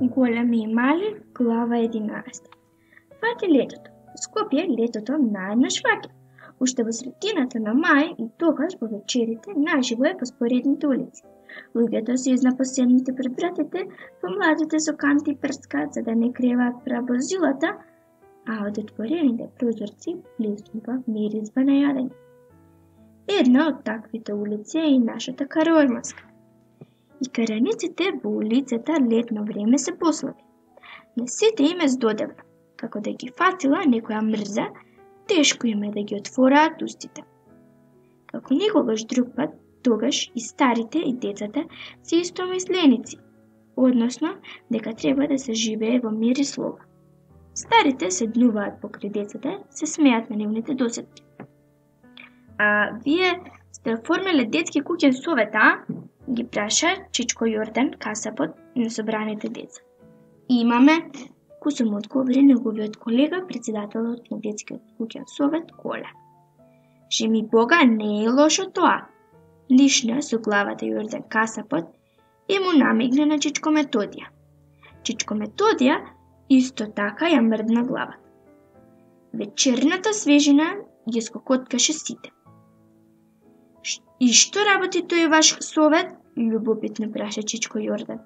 Големи и мали, глава 11. Фати летото. Скопје летото наеднаш фаќа. Уште во средината на мај и тогаш во вечерите наживо е по споредните улици. Луѓето се изнапоседните пред вратите, помладите со канти прскаат за да не креваат прабозилата, а од отворените прозорци блиснува миризба на јадење. Една од таквите улици е и нашата Каројмаска. И караниците во улицата летно време се послаби. На сите им е здодевна, како да ги фатила некоја мрза, тешко им е да ги отвораат устите. Како никогаш друг пат, тогаш и старите и децата се истомисленици, односно дека треба да се живее во мир и слога. Старите седнуваат покрај децата, се смеат на нивните досетки. А вие сте оформиле детски куќен совет, а? Ги праша Чичко Јордан, касапот на собраните деца. Имаме, кој му одговори неговиот колега, председателот на детскиот куќен совет, Коле. Жеми Бога, не е лошо тоа. Лишна со главата Јордан касапот и му намигна на Чичко Методија. Чичко Методија исто така ја мрдна главата. Вечерната свежина ги скокоткаше сите. И што работи тој ваш совет? Љубопитно праша Чичко Јордан.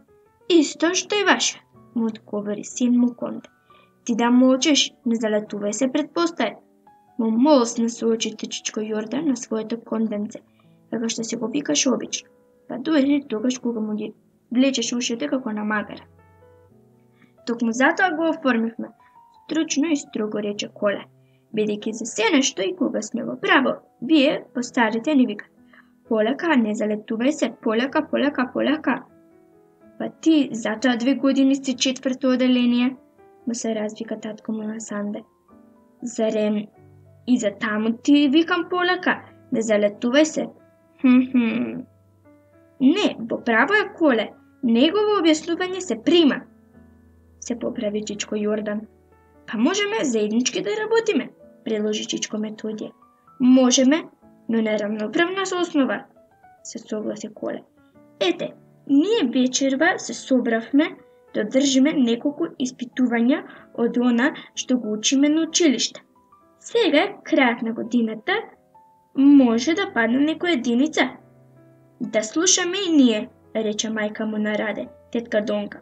Исто што и вашиот, му одговори син му Конде. Ти да молчеш, не залетувај се пред постаја. Му молсна со очите Чичко Јордан на своето конденце, како што се го викаше обично, па дури тогаш кога му ги влечеш ушите како на магара. Токму затоа го оформивме, стручно и строго рече Коле, бидејќи за се нешто и кога сме во право, вие, постарите, ни викат. Полека, не залетувај се, полека, полека, полека. Па ти, затоа 2 години си 4-то оделение, му се развика татко му на Санде. Зарем, и за таму ти викам полека, не залетувај се. Не, во право е Коле, негово објаснување се прима. Се поправи Чичко Јордан. Па можеме заеднички да работиме, предложи Чичко Методија. Можеме, но на рамноправна основа, се согласи Коле. Ете, ние вечерва се собравме да одржиме неколку испитувања од она што го учиме на училиште. Сега, крајот на годината, може да падне некоја единица. Да слушаме и ние, рече мајка му на Раде, тетка Донка.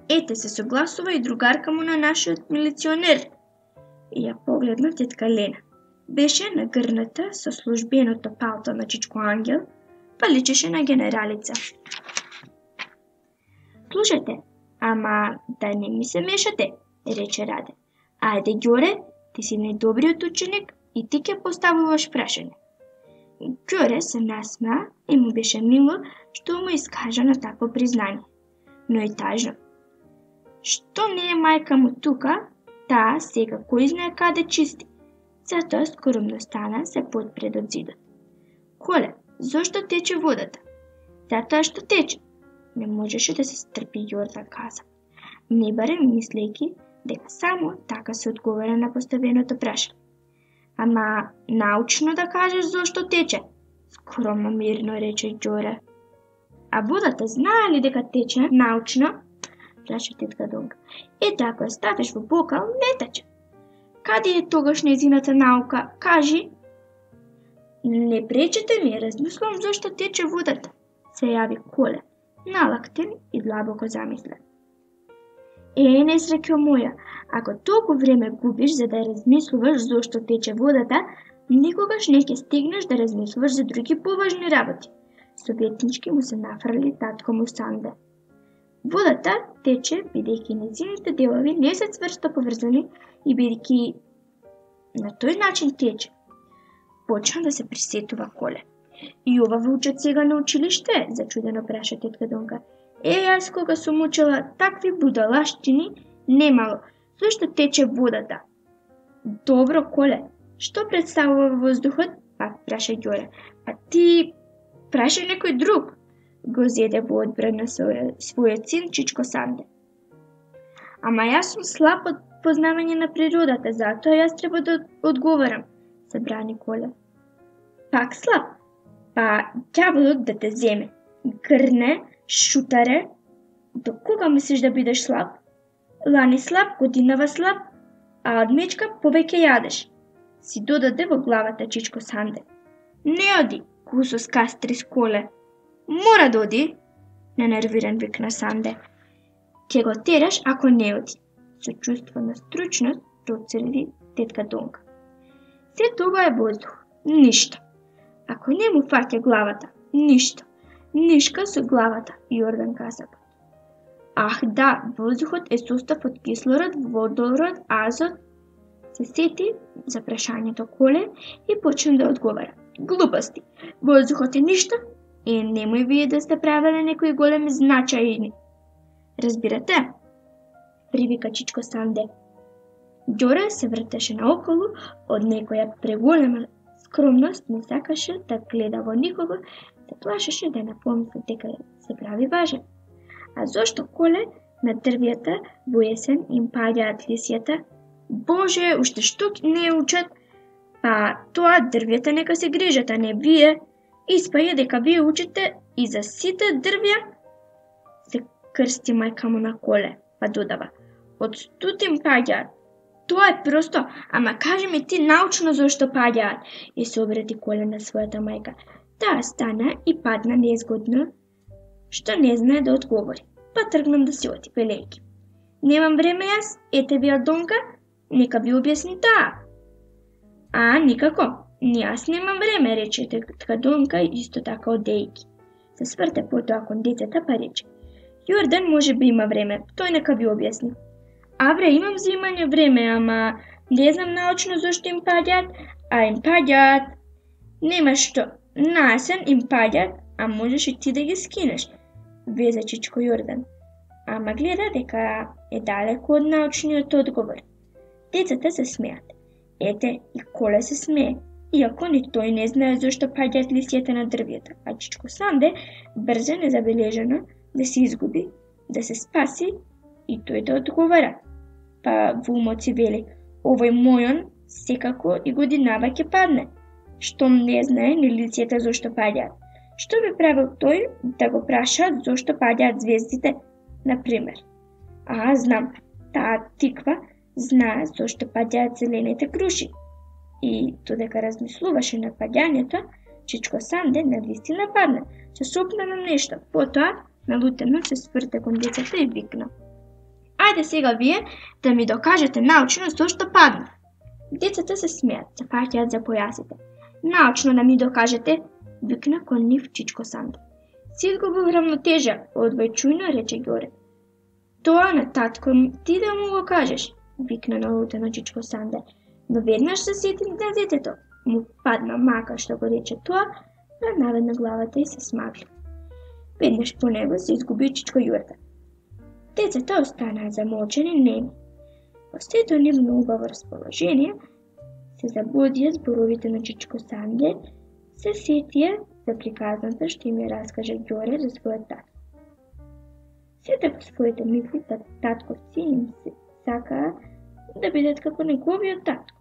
Ете се согласува и другарка му на нашиот милиционер. И ја погледна тетка Лена. Беше нагрната со службеното палто на Чичко Ангел, па личеше на генералица. Слушате, ама да не ми се мешате, рече Раде. Ајде, Ѓоре, ти си најдобриот ученик и ти ќе поставуваш прашање. Ѓоре се насмеа и му беше мило што му искажа на такво признање. Но и тажно. Што не е мајка му тука, таа сега кој знае каде чисти. Затоа скоромно стана се подпред од зидот. Коле, зошто тече водата? Затоа што тече. Не можеше да се стрпи Јордан каза. Не барем мислејќи дека само така се одговара на поставеното прашање. Ама научно да кажеш зошто тече? Скромно мирно рече Ѓоре. А водата знае ли дека тече научно? Праша тетка Донка. Ете, ако ја ставиш во бокал, не тече. Каде е тогаш нејзината наука? Кажи. Не пречете ми, размислувам зошто тече водата, се јави Коле, налактен и длабоко замислен. Несреќо моја, ако толку време губиш за да размислуваш зошто тече водата, никогаш не ќе стигнеш да размислуваш за други поважни работи. Советнички му се нафрли татко му Санде. Водата тече бидејќи нејзините делови не се цврсто поврзани и бидејќи на тој начин тече. Почна да се присетува Коле. И ова во учат сега на училиште? Зачудено праша тетка Донка. Јас кога сум учела такви будалаштини, немало. Зошто тече водата? Добро, Коле. Што представува воздухот? Пак праша Ѓоре. А ти праша некој друг. Го зеде во одбрана својот син Чичко Санде. Ама јас сум слаб од познавање на природата, затоа јас треба да одговарам, се брани Коле. Пак слаб? Па ѓаволот да те земе. Грне, шутаре. До кога мислиш да бидеш слаб? Лани слаб, годинава слаб, а од мечка повеќе јадеш. Си додаде во главата Чичко Санде. Не оди, кусо скастри с коле. Мора да оди, ненервиран викна Санде. Ќе го тераш ако не оди. Со чувство на стручност процеди тетка Донка. Се тоа е воздух, ништо. Ако не му фаќа главата, ништо. Нишка со главата, Јордан Касапот. Ах да, воздухот е состав од кислород, водород, азот. Се сети за прашањето Коле и почна да одговара. Глупости, воздухот е ништо? Немој вие да сте правеле некои големи значајни. Разбирате? Привика Чичко Санде. Ѓоре се вртеше наоколу, од некоја преголема скромност не сакаше да гледа во никого, се плашеше да не помисли дека се прави важен. А зошто Коле на дрвјата во есен им паѓаат лисјата? Боже, уште што не учат? Па тоа дрвјата нека се грижат, а не вие. Испаја дека вие учите и за сите дрвја? Се крсти мајка му на Коле, па додава. Од стотин паѓаат. Тоа е просто, ама кажи ми ти научно зошто паѓаат, и се обрати Коле на својата мајка. Таа стана и падна незгодно, што не знае да одговори. Па тргнам да си оти, велејки. Немам време јас, ете ви Донка, нека ви објасни таа. А, никако, јас немам време, рече тетка Донка исто така одејки. Се сврте потоа кон децата па рече. Јордан може би има време, тој нека ви објасни. Авре, имам за имање време, ама не знам научно зошто им паѓаат, а им паѓаат. Нема што, наесен им паѓаат, а можеш и ти да ги скинеш, везе Чичко Јордан. Ама гледа дека е далеко од научниот одговор. Децата се смеат. Ете, и Коле се смее, иако ни тој не знае зошто паѓаат лисјата на дрвјата, а Чичко Санде брза незабележано да се изгуби, да се спаси и тој да одговара. Па во умот си вели, овој мојон секако и годинава ќе падне. Штом не знае ни лисјата зошто паѓаат. Што би правил тој да го праша зошто паѓаат звездите, например? А, знам, таа тиква знае зошто паѓаат зелените круши. И додека размислуваше над паѓањето, Чичко Санде навистина падна, се сопна на нешто, потоа налутено се сврте кон децата и викна. Ајде сега вие да ми докажете научно зошто падна. Децата се смеат, се фаќаат за појасите. Научно да ми докажете, викна кон нив Чичко Санде. Си изгубил рамнотежа, одвајчујно рече Ѓоре. Тоа на татко ти да му го кажеш, викна налутено Чичко Санде. Но веднаш се сети на детето. Му падна мака што го рече тоа, а наведна главата и се смагли. Веднаш по него се изгуби Чичко Јордан. Децата останаа замолчени неми. Во сето нивно убаво расположение се забудија зборовите на Чичко Санде, се сетија за приказната што им ја раскаже Ѓоре за својот татко. Сите во своите мисли да татковци им се сакаа да бидат како неговиот татко.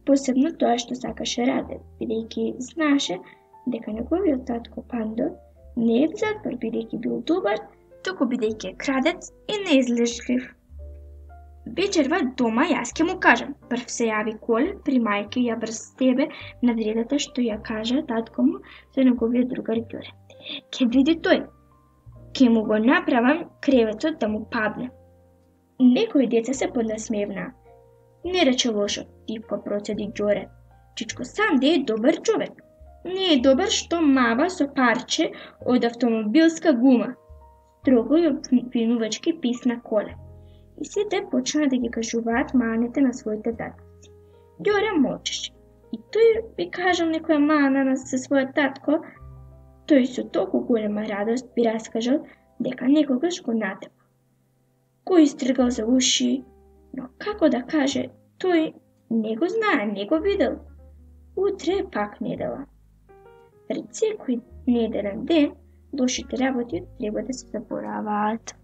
Посебно тоа што сакаше Раде, бидејќи знаеше дека неговиот татко Пандо не е в затвор бидејќи бил добар, туку бидејќи е крадец и неизлежлив. Вечерва дома јас ќе му кажам. Прв се јави Коле при мајке ја врз тебе на вредата што ја кажа татко му за неговиот другар Ѓоре. Ке види тој. Ке му го направам креветот да му падне. Некои деца се поднасмевнаа. Не рече лошо, типко процеди Ѓоре. Чичко Санде е добар човек. Не е добар што мава со парче од автомобилска гума. Строго и обвинувачки писна Коле. И сите почна да ги кажуваат маните на своите татковци. Ѓоре молчеше. И тој би кажал некоја мана со својот татко, тој со толку голема радост би раскажал дека некогаш го натепа. Го истргал за уши, но како да каже, тој не го знае, не го видел. Утре е пак недела. Пред секој неделен ден, лошите работи треба да се забораваат.